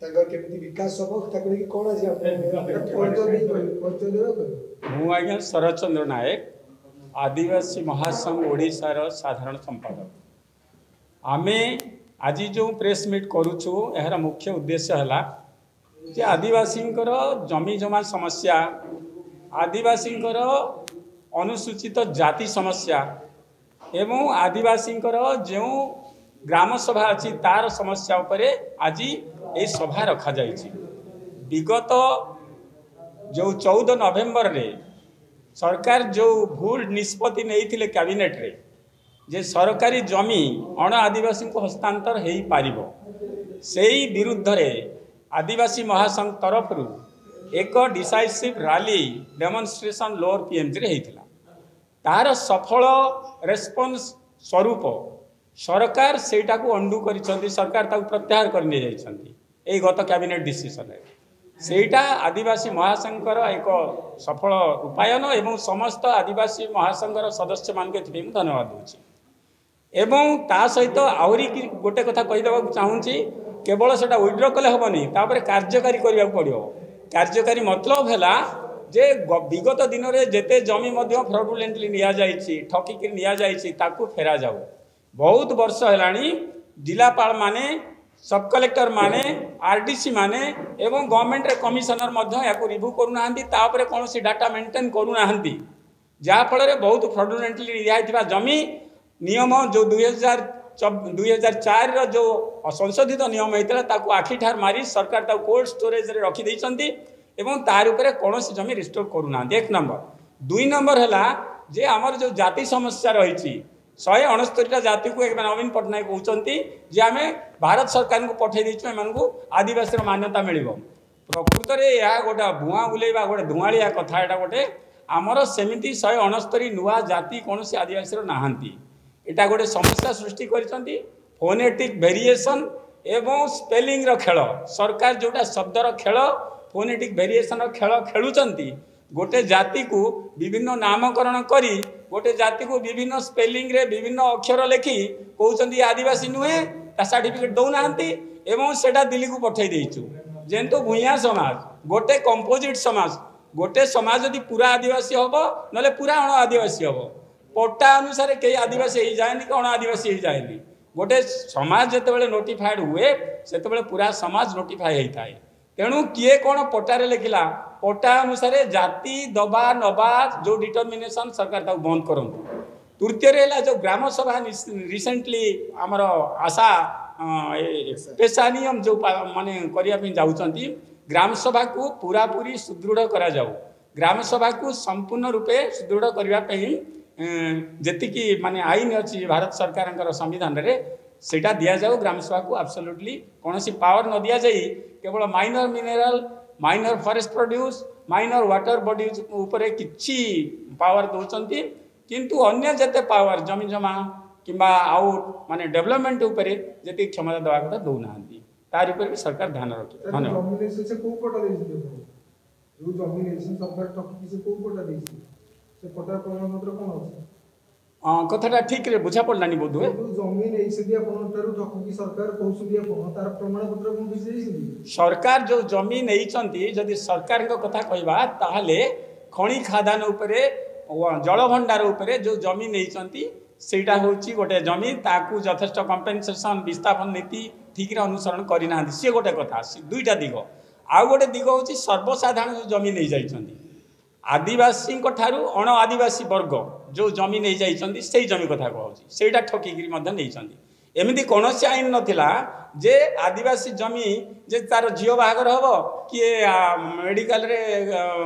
ତାଙ୍କର କେମିତି ବିକାଶ ହବ, ତାକୁ ନେଇକି କ'ଣ ଆଜି ଆପଣ? ମୁଁ ଆଜ୍ଞା ଶରତ ଚନ୍ଦ୍ର ନାୟକ, ଆଦିବାସୀ ମହାସଂଘ ଓଡ଼ିଶାର ସାଧାରଣ ସମ୍ପାଦକ। ଆମେ ଆଜି ଯେଉଁ ପ୍ରେସ୍ ମିଟ୍ କରୁଛୁ, ଏହାର ମୁଖ୍ୟ ଉଦ୍ଦେଶ୍ୟ ହେଲା ଯେ ଆଦିବାସୀଙ୍କର ଜମି ଜମା ସମସ୍ୟା, ଆଦିବାସୀଙ୍କର ଅନୁସୂଚିତ ଜାତି ସମସ୍ୟା ଏବଂ ଆଦିବାସୀଙ୍କର ଯେଉଁ ଗ୍ରାମ ସଭା ଅଛି ତାର ସମସ୍ୟା ଉପରେ ଆଜି ଏହି ସଭା ରଖାଯାଇଛି। ବିଗତ ଯେଉଁ 14 ନଭେମ୍ବରରେ ସରକାର ଯେଉଁ ଭୁଲ ନିଷ୍ପତ୍ତି ନେଇଥିଲେ କ୍ୟାବିନେଟ୍ରେ ଯେ ସରକାରୀ ଜମି ଅଣ ଆଦିବାସୀଙ୍କୁ ହସ୍ତାନ୍ତର ହୋଇପାରିବ, ସେଇ ବିରୁଦ୍ଧରେ ଆଦିବାସୀ ମହାସଂଘ ତରଫରୁ ଏକ ଡିସାଇସିଭ୍ ରାଲି ଡେମନଷ୍ଟ୍ରେସନ୍ ଲୋଅର ପିଏମ୍ଜିରେ ହେଇଥିଲା। ତାର ସଫଳ ରେସ୍ପନ୍ସ ସ୍ୱରୂପ ସରକାର ସେଇଟାକୁ ଅଣ୍ଡୁ କରିଛନ୍ତି, ସରକାର ତାକୁ ପ୍ରତ୍ୟାହାର କରି ନେଇଯାଇଛନ୍ତି ଏଇ ଗତ କ୍ୟାବିନେଟ୍ ଡିସିସନରେ। ସେଇଟା ଆଦିବାସୀ ମହାସଂଘର ଏକ ସଫଳ ରୂପାୟନ ଏବଂ ସମସ୍ତ ଆଦିବାସୀ ମହାସଂଘର ସଦସ୍ୟମାନଙ୍କୁ ଏଥିପାଇଁ ମୁଁ ଧନ୍ୟବାଦ ଦେଉଛି। ଏବଂ ତା ସହିତ ଆହୁରି ଗୋଟେ କଥା କହିଦେବାକୁ ଚାହୁଁଛି, କେବଳ ସେଇଟା ୱିଡ୍ର କଲେ ହେବନି, ତାପରେ କାର୍ଯ୍ୟକାରୀ କରିବାକୁ ପଡ଼ିବ। କାର୍ଯ୍ୟକାରୀ ମତଲବ ହେଲା ଯେ ବିଗତ ଦିନରେ ଯେତେ ଜମି ମଧ୍ୟ ଫ୍ରଡୁଲେଣ୍ଟଲି ନିଆଯାଇଛି, ଠକିକିରି ନିଆଯାଇଛି, ତାକୁ ଫେରାଯାଉ। ବହୁତ ବର୍ଷ ହେଲାଣି ଜିଲ୍ଲାପାଳମାନେ, ସବ୍ କଲେକ୍ଟର ମାନେ, ଆର୍ ଡି ସି ମାନେ ଏବଂ ଗଭର୍ଣ୍ଣମେଣ୍ଟର କମିଶନର ମଧ୍ୟ ଏହାକୁ ରିଭ୍ୟୁ କରୁନାହାନ୍ତି, ତା ଉପରେ କୌଣସି ଡାଟା ମେଣ୍ଟେନ୍ କରୁନାହାନ୍ତି, ଯାହାଫଳରେ ବହୁତ ଫ୍ରଡୁଲେଣ୍ଟଲି ନିଆଯାଇଥିବା ଜମି ନିୟମ ଯେଉଁ 2004ର ଯେଉଁ ସଂଶୋଧିତ ନିୟମ ହେଇଥିଲା ତାକୁ ଆଖିଠାର ମାରି ସରକାର ତାକୁ କୋଲ୍ଡ ଷ୍ଟୋରେଜରେ ରଖିଦେଇଛନ୍ତି ଏବଂ ତାର ଉପରେ କୌଣସି ଜମି ରିଷ୍ଟୋର କରୁନାହାନ୍ତି। ଏକ ନମ୍ବର। ଦୁଇ ନମ୍ବର ହେଲା ଯେ ଆମର ଯେଉଁ ଜାତି ସମସ୍ୟା ରହିଛି, 169ଟା ଜାତିକୁ ଏବେ ନବୀନ ପଟ୍ଟନାୟକ କହୁଛନ୍ତି ଯେ ଆମେ ଭାରତ ସରକାରଙ୍କୁ ପଠାଇ ଦେଇଛୁ, ଏମାନଙ୍କୁ ଆଦିବାସୀର ମାନ୍ୟତା ମିଳିବ। ପ୍ରକୃତରେ ଏହା ଗୋଟେ ଭୁଆଁ ବୁଲେଇବା, ଗୋଟେ ଧୂଆଁଳିଆ କଥା। ଏଇଟା ଗୋଟେ ଆମର ସେମିତି 169 ନୂଆ ଜାତି କୌଣସି ଆଦିବାସୀର ନାହାନ୍ତି। ଏଇଟା ଗୋଟେ ସମସ୍ୟା ସୃଷ୍ଟି କରିଛନ୍ତି, ଫୋନେଟିକ୍ ଭେରିଏସନ୍ ଏବଂ ସ୍ପେଲିଂର ଖେଳ। ସରକାର ଯେଉଁଟା ଶବ୍ଦର ଖେଳ, ଫୋନେଟିକ୍ ଭେରିଏସନ୍ର ଖେଳ ଖେଳୁଛନ୍ତି, ଗୋଟେ ଜାତିକୁ ବିଭିନ୍ନ ନାମକରଣ କରି, ଗୋଟେ ଜାତିକୁ ବିଭିନ୍ନ ସ୍ପେଲିଂରେ ବିଭିନ୍ନ ଅକ୍ଷର ଲେଖି କହୁଛନ୍ତି ଆଦିବାସୀ ନୁହେଁ, ତା ସାର୍ଟିଫିକେଟ୍ ଦେଉନାହାନ୍ତି ଏବଂ ସେଇଟା ଦିଲ୍ଲୀକୁ ପଠାଇ ଦେଇଛୁ। ଯେହେତୁ ଭୂଇଁଆ ସମାଜ ଗୋଟେ କମ୍ପୋଜିଟ୍ ସମାଜ, ଗୋଟେ ସମାଜ ଯଦି ପୁରା ଆଦିବାସୀ ହେବ ନହେଲେ ପୁରା ଅଣ ଆଦିବାସୀ ହେବ। ପଟ୍ଟା ଅନୁସାରେ କେହି ଆଦିବାସୀ ହେଇଯାଏନି କି ଅଣ ଆଦିବାସୀ ହେଇଯାଏନି। ଗୋଟେ ସମାଜ ଯେତେବେଳେ ନୋଟିଫାଏଡ୍ ହୁଏ, ସେତେବେଳେ ପୁରା ସମାଜ ନୋଟିଫାଏ ହେଇଥାଏ। ତେଣୁ କିଏ କ'ଣ ପଟ୍ଟାରେ ଲେଖିଲା, ପଟ୍ଟା ଅନୁସାରେ ଜାତି ଦବା ନବା ଯେଉଁ ଡିଟର୍ମିନେସନ୍, ସରକାର ତାକୁ ବନ୍ଦ କରନ୍ତୁ। ତୃତୀୟରେ ହେଲା ଯେଉଁ ଗ୍ରାମ ସଭା ରିସେଣ୍ଟଲି ଆମର ଆଶା ପେଶା ନିୟମ ଯେଉଁ ମାନେ କରିବା ପାଇଁ ଯାଉଛନ୍ତି, ଗ୍ରାମ ସଭାକୁ ପୁରାପୁରି ସୁଦୃଢ଼ କରାଯାଉ। ଗ୍ରାମ ସଭାକୁ ସମ୍ପୂର୍ଣ୍ଣ ରୂପେ ସୁଦୃଢ଼ କରିବା ପାଇଁ ଯେତିକି ମାନେ ଆଇନ ଅଛି ଭାରତ ସରକାରଙ୍କର ସମ୍ବିଧାନରେ, ସେଇଟା ଦିଆଯାଉ। ଗ୍ରାମ ସଭାକୁ ଆବସଲ୍ୟୁଟଲି କୌଣସି ପାୱାର ନ ଦିଆଯାଇ କେବଳ minor mineral, minor forest produce, minor water bodies ଉପରେ କିଛି ପାୱାର ଦେଉଛନ୍ତି, କିନ୍ତୁ ଅନ୍ୟ ଯେତେ ପାୱାର ଜମି ଜମା କିମ୍ବା ଆଉ ମାନେ ଡେଭଲପମେଣ୍ଟ ଉପରେ ଯେତିକି କ୍ଷମତା ଦେବା କଥା ଦେଉନାହାନ୍ତି। ତାରି ଉପରେ ବି ସରକାର ଧ୍ୟାନ ରଖିବେ। ଧନ୍ୟବାଦ। ଜମି ନେଇଛନ୍ତି, ସେ କୋଉ ପଟ୍ଟା ଦେଇଛନ୍ତି ଆପଣଙ୍କୁ? ଯୋଉ ଜମି ନେଇଛନ୍ତି ସରକାର ଠକିକି, ସେ କୋଉ ପଟ୍ଟା ଦେଇଛନ୍ତି? ସେ ପଟ୍ଟାର ପ୍ରମାଣପତ୍ର କ'ଣ ଅଛି? କଥାଟା ଠିକରେ ବୁଝା ପଡ଼ିଲାନି ବୋଧହୁଏ। ଯୋଉ ଜମି ନେଇଛନ୍ତି ଆପଣଙ୍କ ଠାରୁ ଠକିକି ସରକାର କହୁଛନ୍ତି ଆପଣ, ତାର ପ୍ରମାଣପତ୍ର କ'ଣ କିଛି ଦେଇଛନ୍ତି? ସରକାର ଯେଉଁ ଜମି ନେଇଛନ୍ତି, ଯଦି ସରକାରଙ୍କ କଥା କହିବା ତାହେଲେ ଖଣି ଖାଦାନ ଉପରେ, ଜଳଭଣ୍ଡାର ଉପରେ ଯେଉଁ ଜମି ନେଇଛନ୍ତି, ସେଇଟା ହେଉଛି ଗୋଟେ ଜମି, ତାକୁ ଯଥେଷ୍ଟ କମ୍ପେନସେସନ୍, ବିସ୍ଥାପନ ନୀତି ଠିକରେ ଅନୁସରଣ କରିନାହାନ୍ତି। ସିଏ ଗୋଟେ କଥା, ଦୁଇଟା ଦିଗ। ଆଉ ଗୋଟେ ଦିଗ ହେଉଛି ସର୍ବସାଧାରଣ ଯେଉଁ ଜମି ନେଇଯାଇଛନ୍ତି, ଆଦିବାସୀଙ୍କ ଠାରୁ ଅଣ ଆଦିବାସୀ ବର୍ଗ ଯେଉଁ ଜମି ନେଇଯାଇଛନ୍ତି, ସେଇ ଜମି କଥା କହୁଛି, ସେଇଟା ଠକିକିରି ମଧ୍ୟ ନେଇଛନ୍ତି। ଏମିତି କୌଣସି ଆଇନ ନଥିଲା ଯେ ଆଦିବାସୀ ଜମି ଯେ ତାର ଝିଅ ବାହାଘର ହେବ, କିଏ ମେଡ଼ିକାଲରେ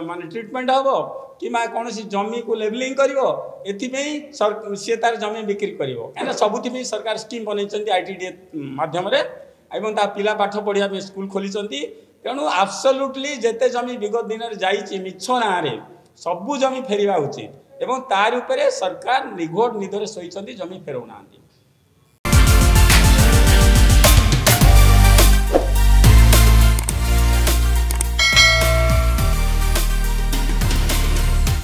ମାନେ ଟ୍ରିଟମେଣ୍ଟ ହେବ କିମ୍ବା କୌଣସି ଜମିକୁ ଲେବଲିଂ କରିବ, ଏଥିପାଇଁ ସିଏ ତାର ଜମି ବିକ୍ରି କରିବ। କାହିଁକିନା ସବୁଥିପାଇଁ ସରକାର ସ୍କିମ୍ ବନେଇଛନ୍ତି I T D A ମାଧ୍ୟମରେ ଏବଂ ତା ପିଲା ପାଠ ପଢ଼ିବା ପାଇଁ ସ୍କୁଲ ଖୋଲିଛନ୍ତି। ତେଣୁ ଆବସଲ୍ୟୁଟଲି ଯେତେ ଜମି ବିଗତ ଦିନରେ ଯାଇଛି ମିଛ ନାଁରେ, ସବୁ ଜମି ଫେରିବା ଉଚିତ ଏବଂ ତାରି ଉପରେ ସରକାର ନିଘୋଡ଼ ନିଦରେ ଶୋଇଛନ୍ତି, ଜମି ଫେରଉନାହାନ୍ତି।